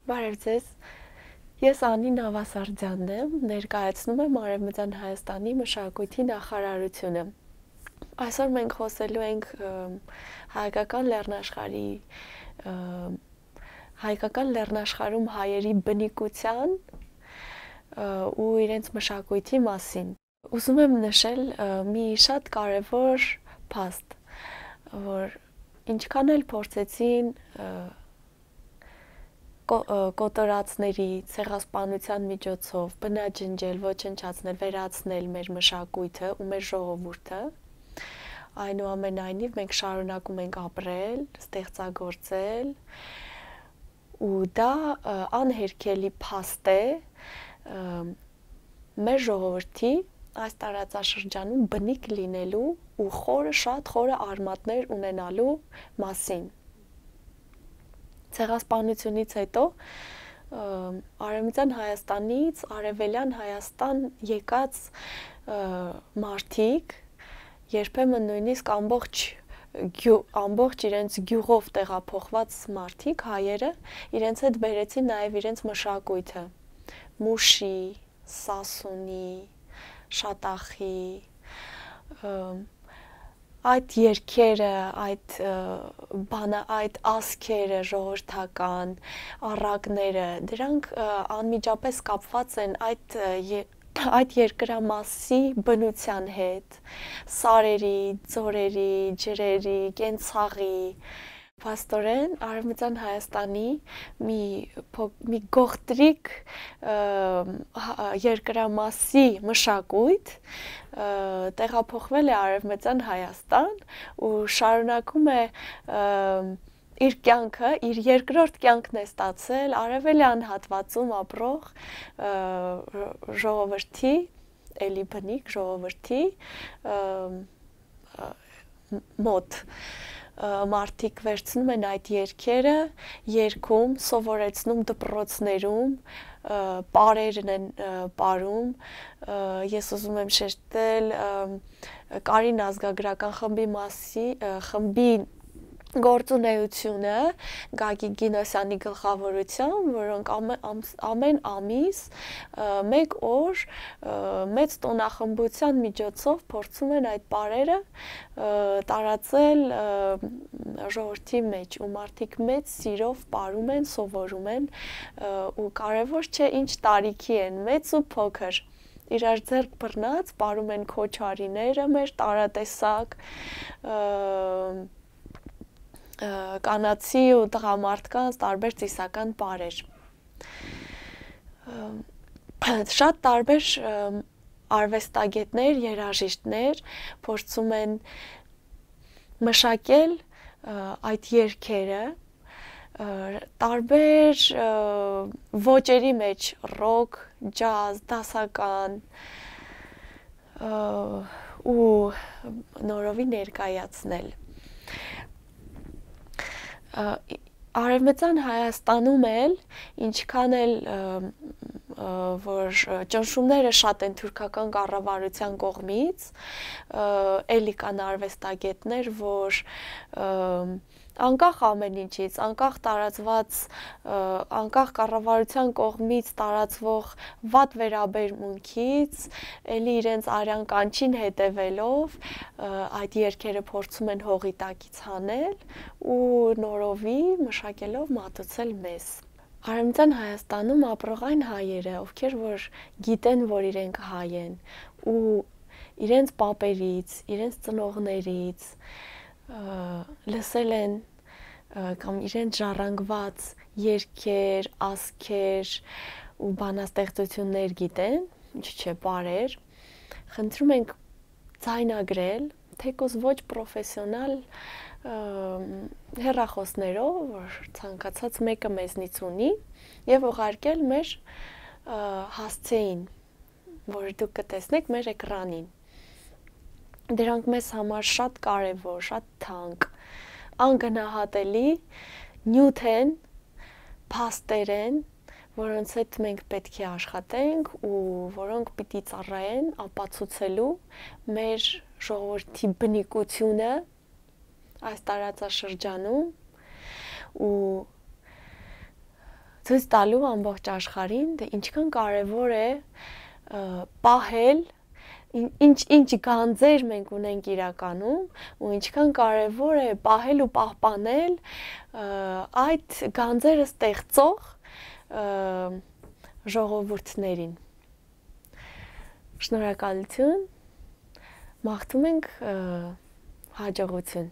Բարև ձեզ, ես Անի Նավասարդյանն եմ, ներկայացնում եմ Արևմտյան Հայաստանի մշակույթի նախարարությունը։ Այսօր մենք խոսելու ենք հայկական լեռնաշխարհում հայերի բնիկության ու իրենց մշակույթի մասին։ Ուզում եմ նշել մի շատ կարևոր փաստ, որ ինչքան էլ փորձեցին կոտորածների ցեղասպանության միջոցով բնաջնջել, ոչնչացնել, վերացնել մեր մշակույթը ու մեր ժողովուրդը, այնուամենայնիվ մենք շարունակում ենք ապրել, ստեղծագործել ու դա անհերքելի փաստ է մեր ժողովրդի այս տարածաշրջանում բնիկ լինելու ու շատ խորը արմատներ ունենալու մասին։ Ցեղասպանությունից հետո Արևմտյան Հայաստանից Արևելյան Հայաստան եկած մարդիկ երբեմն նույնիսկ ամբողջ իրենց գյուղով տեղափոխված մարդիկ, հայերը, իրենց հետ բերեցին նաև իրենց մշակույթը՝ մուշի, սասունի, շատախի, այդ երգերը, այդ ասքերը ժողովրդական, առակները, դրանք անմիջապես կապված են այդ երկրամասի բնության հետ, սարերի, ձորերի, ջրերի, կենցաղի։ Փաստորեն Արևմտյան Հայաստանի մի գողտրիկ երկրամասի մշակույթ տեղափոխվել է Արևմտյան Հայաստան ու շարունակում է իր կյանքը, իր երկրորդ կյանքն է ստացել արևելյան հատվածում ապրող ժողովրդի, էլի բնիկ ժողովրդի մոտ։ Մարդիկ վերցնում են այդ երգերը, երգում, սովորեցնում դպրոցներում, պարերն են պարում, ես ուզում եմ շեշտել Կարին ազգագրական խմբի գործունեությունը Գագիկ Գինոսյանի գլխավորությամբ, որոնք ամեն ամիս մեկ օր մեծ տոնախմբության միջոցով փորձում են այդ պարերը տարածել ժողովրդի մեջ ու մարդիկ մեծ սիրով պարում են, սովորում են ու կարևոր չէ ինչ տարիքի են, մեծ ու փոքր, իրար ձեռք բռնած պարում են քոչարիները մեր տարատեսակ, կանացի ու տղամարդկանց տարբեր ծիսական պարեր։ Շատ տարբեր արվեստագետներ, երաժիշտներ փորձում են մշակել այդ երգերը տարբեր ոճերի մեջ՝ ռոք, ջազ, դասական ու նորովի ներկայացնել։ Արևմտյան Հայաստանում էլ ինչքան էլ որ ճնշումները շատ են թուրքական կառավարության կողմից, էլի կան արվեստագետներ, որ անկախ ամեն ինչից, անկախ կառավարության կողմից տարածվող վատ վերաբերմունքից, էլի իրենց արյան կանչին հետևելով այդ երգերը փորձում են հողի տակից հանել ու նորովի մշակելով մատուցել մեզ։ Արևմտյան Հայաստանում ապրող այն հայերը, ովքեր որ գիտեն, որ իրենք հայ են ու իրենց պապերից, իրենց ծնողներից լսել են կամ իրենց ժառանգված երգեր, ասքեր ու բանաստեղծություններ գիտեն, ինչ չէ պարեր, խնդրում ենք ձայնագրել, թեկուզ ոչ պրոֆեսիոնալ հեռախոսներով, որ ցանկացած մեկը մեզնից ունի, եւ ուղարկել մեր հասցեին, որ դուք կտեսնեք մեր էկրանին։ Դրանք մեզ համար շատ կարևոր, շատ թանկ, անգնահատելի նյութ են, փաստեր են, որոնց հետ մենք պետք է աշխատենք ու որոնք պիտի ծառայեն ապացուցելու մեր ժողովրդի բնիկությունը այս տարածաշրջանում ու ցույց տալու ամբողջ աշխարհին, թե ինչքան կարևոր է պահել ինչ գանձեր մենք ունենք իրականում ու ինչքան կարևոր է պահել ու պահպանել այդ գանձերը ստեղծող ժողովուրդներին։ Շնորհակալություն, մաղթում ենք հաջողություն։